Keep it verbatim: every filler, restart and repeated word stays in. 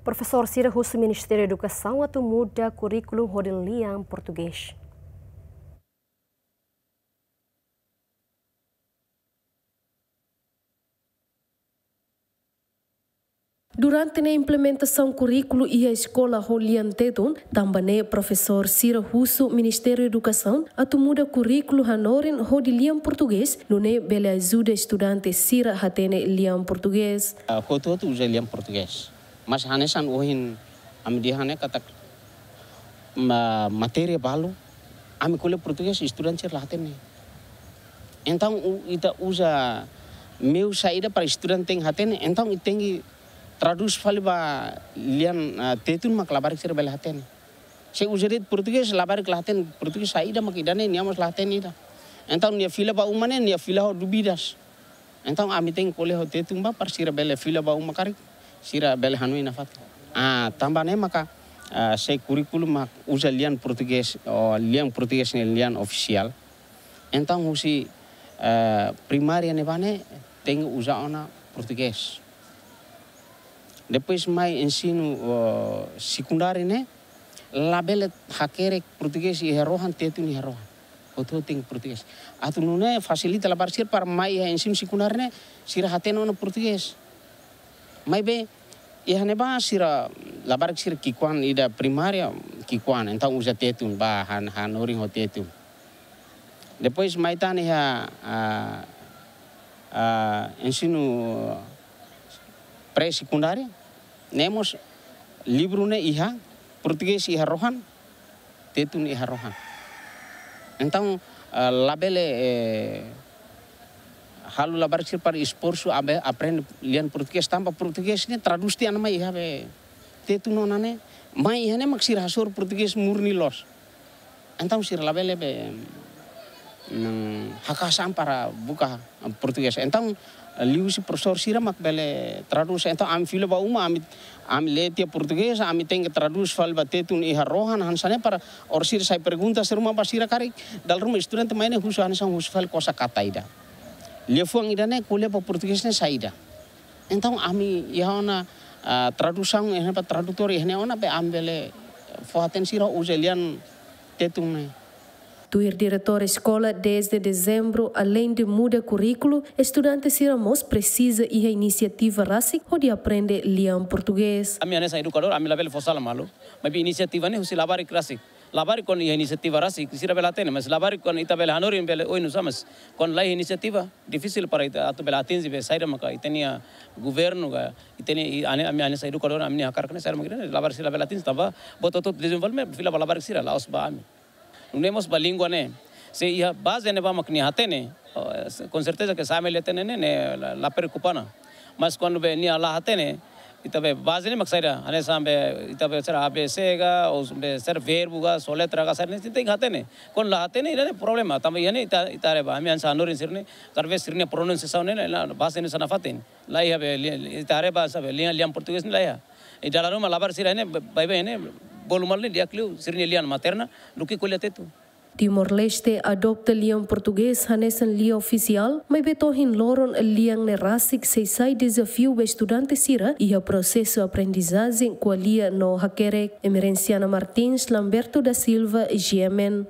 Profesór sira husu Ministériu Edukasaun atu muda kurríkulu hodi lian Portugés. Durante ne'e implementasaun kurríkulu iha eskola ho lian Tetun, tanba ne'e profesór sira husu Ministériu Edukasaun atu muda kurríkulu hanorin hodi lian Portugés, nune'e bele ajuda estudante sira hatene lian Portugés. Ah, hotu-hotu uza lian Portugés. Mas hanesan ohin ami dehan ne'e katak ma-, matéria balu, ami ko'alia Portugés, estudante sira la hatene. Entaun, u-, ita uza meiu saida para estudante tenke hatene, entaun ita tenke tradús fali ba lian, ah, Tetun mak labarik sira bele hatene. Se uza de'it Portugés, labarik la hatene Portugés saida mak ida-ne'e, nia mós la hatene ida. Entaun, nia fila ba uma ne'e, nia fila ho dúvidas. Entaun, ami tenke ko'alia ho Tetun ba, para sira bele fila ba uma karik, sira bele hanoin nafatin. Ah, tanba ne'e maka, ah, se kurríkulu mak uza lian Portugés, ou lian Portugés ne'e lian ofisiál. Entaun, husi, ah, primária ne'ebá ne'e tenke uza ona Portugés. Depois mai ensinu, oh, sekundáriu ne'e, labele hakerek Portugés iha rohan, Tetun iha rohan. Hotu-hotu tenke Portugés. Atu nune'e fasilita labarik sira para mai iha ensinu sekundáriu ne'e, sira hatene ona Portugés. Maibé, iha ne'ebá sira labarik sira ki'ikoan ida primária, ki'ikoan, entaun uza Tetun, ba han-, hanorin ho Tetun. Depois mai tan iha, ah, ah, ensinu pré-sekundáriu, ne'e mós livru ne'e iha, Portugés iha rohan, Tetun iha rohan. Entaun, ah, labele, eh, halo labarik sira para esforsu abe-, aprende lian Portugés, tanba Portugés ne'e tradús tiha ona mai iha be Tetun ona ne'e, mai iha ne'e mak sira hasoru Portugés murni loos. Entaun sira labele be, mm, haka'as an para buka Portugés. Entaun, liuhusi profesór sira mak bele tradús. Entaun, ami fila ba uma, ami, ami lee tiha Portugés, ami tenke tradús fali ba Tetun iha rohan, hanesan ne'e para orsida sai pergunta sira ruma ba sira karik, dala ruma estudante mai ne'e husu hanesan husu fali kosakata ida. Liafuan ida-ne'e ko'alia ba Portugés ne'e saida. Entaun, ami iha ona, ah, tradusaun, iha ne'ebá tradutór, iha ne'e ona be ami bele fó-hatene sira uza lian Tetun ne'e. Tuir diretór eskola, dezde dezembru, aleinde muda kurríkulu, estudante sira mós presiza iha inisiativa rasik hodi aprende lian Portugés. Ami hanesan edukadór, ami labele fó sala malu. Maibé inisiativa ne'e husi labarik rasik. Labarik kuandu iha inisiativa rasik, sira bele hatene, mas labarik kuandu ita bele hanorin bele oin nusá, mas kuandu laiha inisiativa, difisil para ita atu bele atinje be saida maka ita-nia governu ka, ita-nia, i, ane, ami hanesan edukadór, ami-nia hakarak ne'e saida maka ita-nia labarik sira bele atinje, tanba buat hotu-hotu dezenvolvimentu fila ba labarik sira, la'ós ba ami. Nune'e mós ba língua ne'e. Se iha baze ne'ebá mak nia hatene, oh, se, com certeza que se ami la hatene ne'e, ne'e la, la preokupa ona. Mas kuandu be nia la hatene, ita be baze ne'e mak saida, hanesan be, ita be sira A B C ka, ou be sira verbu ka, soletra ka, sira ne'e tenke hatene. Kuandu la hatene, ida-ne'e problema. Tanba iha ne'e ita, ita haree ba, ami hanesan hanorin sira-ne'e, talvés sira-nia pronunsiasaun ne'e, ne'e, la, baze ne'e hanesan nafatin. La iha be, li-, ita haree ba, sabe, lian, lian Portugés ne'e la iha. I dala ruma labarik sira ne'e, ba-, baibain ne'e, bolu malu ne'e di'ak liu sira-nia lian materna, duké ko'alia Tetun. Timor-Leste adopta lian Portugés hanesan lian ofisiál, maibé to'o-ohin loron lian ne'e rasik sei sai dezafiu ba estudante sira iha prosesu aprendizajen ko'alia no hakerek. Emerenciana Martins, Lamberto da Silva, G M N.